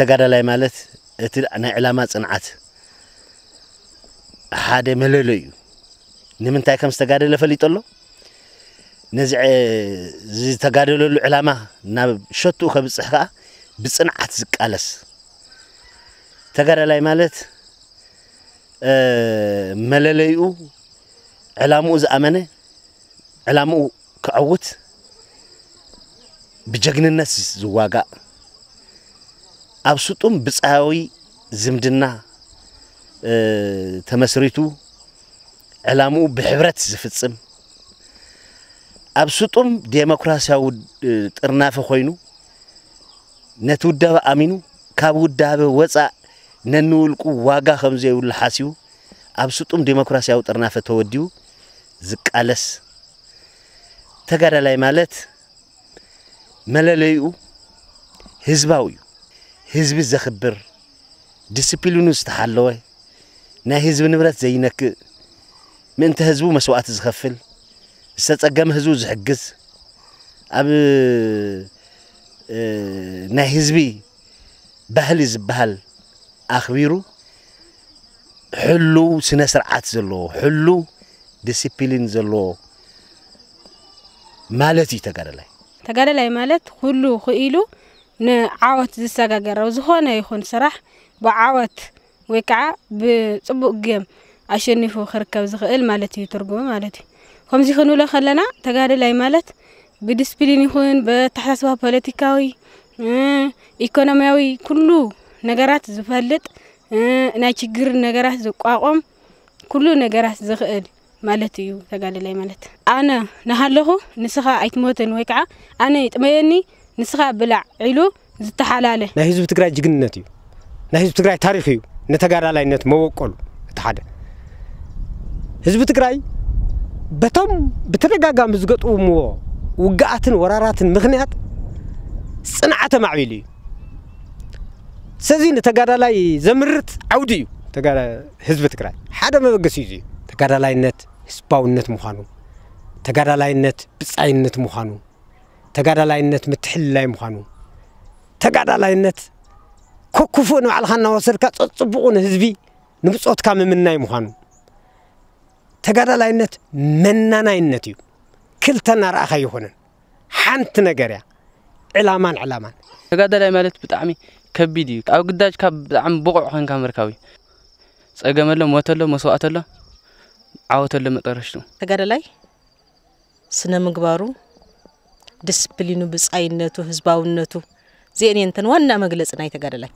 ተጋዳላይ ማለት እቲ ናይ ዕላማ ጽንዓት ሓደ መለለዩ እዩ። ንምንታይ ከም ዝተጋደለ ፈሊጡ ኣሎ። ነዚ ዕ-፣ ዝተጋደለሉ ዕላማ ናብ ሸትኡ ከብጽሕ ከኣ ብጽንዓት ዝቃለስ ተጋዳላይ ማለት፣ እ፣ መለለይኡ ዕላምኡ ዝኣመነ፣ ዕላምኡ ከዐውት ብጀግንነት ዝዋጋእ፣ ኣብ ስጡም ብጻያዊ ዝምድና፣ እ፣ ተመስሪቱ ዕላምኡ ብሕብረት ዝፍጽም፣ ኣብ ስጡም ዴሞክራሲያዊ፣ እ፣ ጥርናፈ ኮይኑ፣ ነቲ ውዳበ ኣሚኑ፣ ካብ ውዳበ ወጻእ ነንውልቁ ዋጋ ከም ዘይብሉ ሓሲቡ፣ ኣብ ስጡም ዴሞክራሲያዊ ጥርናፈ ተወዲቡ ዝቃለስ ተጋዳላይ ማለት መለለይኡ ህዝባዊ እዩ። ህዝቢ ዘኽብር፣ ዲስፕሊኑ ዝተሓለወ፣ ናይ ህዝቢ ንብረት ዘይነክእ፣ ምእንቲ ህዝቡ መስዋእቲ ዝኸፍል፣ ዝተጸገመ ህዝቡ ዝሕግዝ፣ ኣብ፣ እ፣ ናይ ህዝቢ ባህሊ ዝበሃል ኣኽቢሩ፣ ሕሉው ስነ ስርዓት ዘለዎ፣ ሕሉው ዲሲፕሊን ዘለዎ ማለት እዩ ተጋዳላይ። ተጋዳላይ ማለት ኩሉ ክኢሉ ንዓወት ዝሰጋገር፣ ኣብ ዝኾነ ይኹን ስራሕ ብዓወት ወይ ከዓ ብጽቡቕ ጌም ኣሸኒፉ ክርከብ ዝኽእል ማለት እዩ ትርጉሙ ማለት እዩ። ከምዚ ክንብሎ ከለና ተጋዳላይ ማለት ብዲስፕሊን ይኹን ብኣተሓሳስባ ፖለቲካዊ፣ እ፣ ኢኮኖሚያዊ ኩሉ ነገራት ዝፈልጥ፣ እ፣ ናይ ችግር ነገራት ዝቋቋም ኩሉ ነገራት ዝኽእል ማለት እዩ ተጋዳላይ ማለት። ኣነ ናሃለኹ ንስኻ ኣይትሞትን ወይ ከዓ ኣነ ይጥመየኒ ንስኻ ብላዕ ኢሉ ዝተሓላለ። ናይ ህዝቢ ትግራይ ጅግንነት እዩ። ናይ ህዝቢ ትግራይ ታሪኽ እዩ። ንተጋዳላይነት መበቆሉ እቲ ሓደ። ህዝቢ ትግራይ በቶም ብተደጋጋሚ ዝገጥምዎ ውግኣትን ወራራትን ምኽንያት ጽንዓተ ማዕቢሉ እዩ። ስለዚ ንተጋዳላይ ዘምርት ዓውዲ እዩ ተጋዳ-፣ ህዝቢ ትግራይ ሓደ መበገሲ እዩ። ተጋዳላይነት ህዝባውነት ምዃኑ፣ ተጋዳላይነት ብጻይነት ምዃኑ፣ ተጋዳላይነት ምትሕልላይ ምዃኑ፣ ተጋዳላይነት ከክፉእ ንባዕልኻ እናወሰድካ ጸጽቡቑ ንህዝቢ ንብጾትካ ምምናይ ምዃኑ፣ ተጋዳላይነት መናናይነት እዩ። ክልተ እናረኣኻ ኣይኮነን። ሓንቲ ነገር እያ። ዕላማን ዕላማን። ተጋዳላይ ማለት ብጣዕሚ ከቢድ እዩ። ኣብ ግዳጅ ካብ ብጣዕሚ ብቑዕ ኮንካ ምርካብ እዩ። ጸገም ኣሎ፣ ሞት ኣሎ፣ መስዋእቲ ኣሎ፣ ዓወት ኣሎ መጠረሽቱ። ተጋዳላይ ስነ ምግባሩ፣ ዲስፕሊኑ፣ ብጻይነቱ፣ ህዝባውነቱ፣ እዚአን እየን እተን ዋና መግለጺ ናይ ተጋዳላይ።